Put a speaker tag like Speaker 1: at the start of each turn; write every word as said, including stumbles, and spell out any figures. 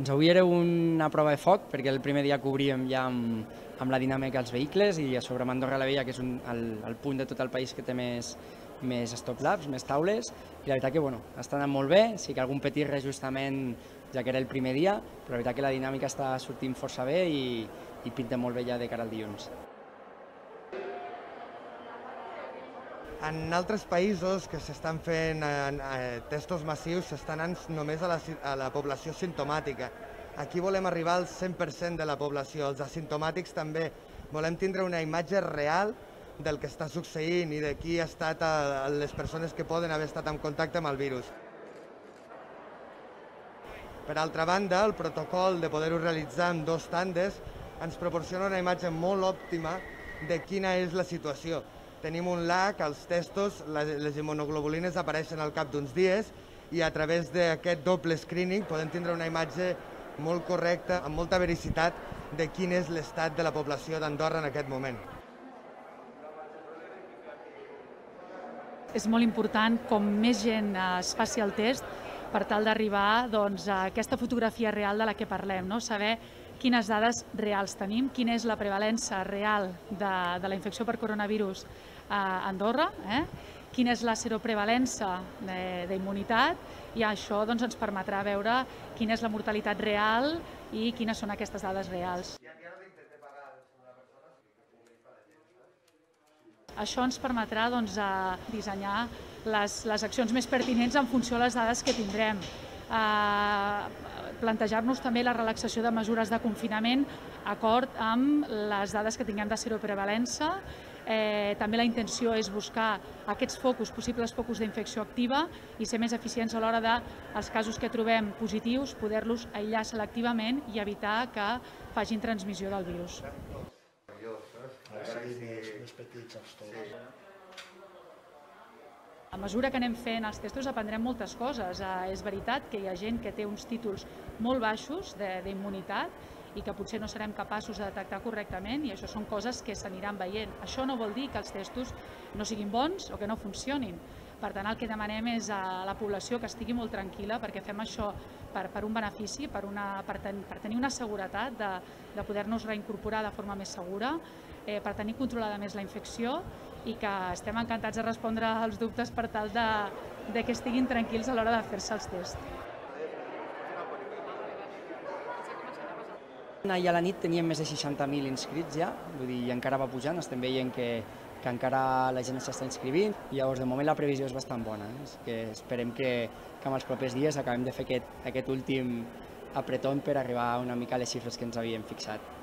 Speaker 1: Doncs avui era una prova de foc, perquè el primer dia cobríem ja amb, amb la dinàmica dels vehicles i a sobre amb Andorra la Vella, que és un, el, el punt de tot el país que té més, més stop laps, més taules, i la veritat que bueno, està anant molt bé, sí que algun petit reajustament ja que era el primer dia, però la veritat que la dinàmica està sortint força bé i, i pinta molt bé ja de cara al dilluns.
Speaker 2: En altres països que s'estan fent eh, testos massius s'estan anant només a la, a la població simptomàtica. Aquí volem arribar al cent per cent de la població, els asimptomàtics també. Volem tindre una imatge real del que està succeint i de qui ha estat a, a les persones que poden haver estat en contacte amb el virus. Per altra banda, el protocol de poder-ho realitzar en dos tandes ens proporciona una imatge molt òptima de quina és la situació. Tenim un lag, als testos, les immunoglobulines apareixen al cap d'uns dies i a través d'aquest doble screening podem tindre una imatge molt correcta, amb molta vericitat, de quin és l'estat de la població d'Andorra en aquest moment.
Speaker 3: És molt important com més gent es faci el test per tal d'arribar doncs, a aquesta fotografia real de la que parlem, no? Saber quines dades reals tenim, quina és la prevalença real de, de la infecció per coronavirus a Andorra, eh? Quina és la seroprevalença d'immunitat i això doncs, ens permetrà veure quina és la mortalitat real i quines són aquestes dades reals. Això ens permetrà doncs, dissenyar les, les accions més pertinents en funció de les dades que tindrem. Eh, plantejar-nos també la relaxació de mesures de confinament acord amb les dades que tinguem de seroprevalença. Eh, també la intenció és buscar aquests focus, possibles focus d'infecció activa i ser més eficients a l'hora dels casos que trobem positius, poder-los aïllar selectivament i evitar que facin transmissió del virus. A mesura que anem fent els testos aprendrem moltes coses. Eh, és veritat que hi ha gent que té uns títols molt baixos d'immunitat i que potser no serem capaços de detectar correctament i això són coses que s'aniran veient. Això no vol dir que els testos no siguin bons o que no funcionin. Per tant, el que demanem és a la població que estigui molt tranquil·la perquè fem això per, per un benefici, per, una, per, ten, per tenir una seguretat de, de poder-nos reincorporar de forma més segura, eh, per tenir controlada més la infecció i que estem encantats de respondre als dubtes per tal de, de que estiguin tranquils a l'hora de fer-se els tests.
Speaker 1: Ahir a la nit teníem més de seixanta mil inscrits ja, vull dir, i encara va pujant, estem veient que, que encara la gent s'està inscrivint i llavors de moment la previsió és bastant bona, eh? És que esperem que, que en els propers dies acabem de fer aquest, aquest últim apretón per arribar una mica a les xifres que ens havíem fixat.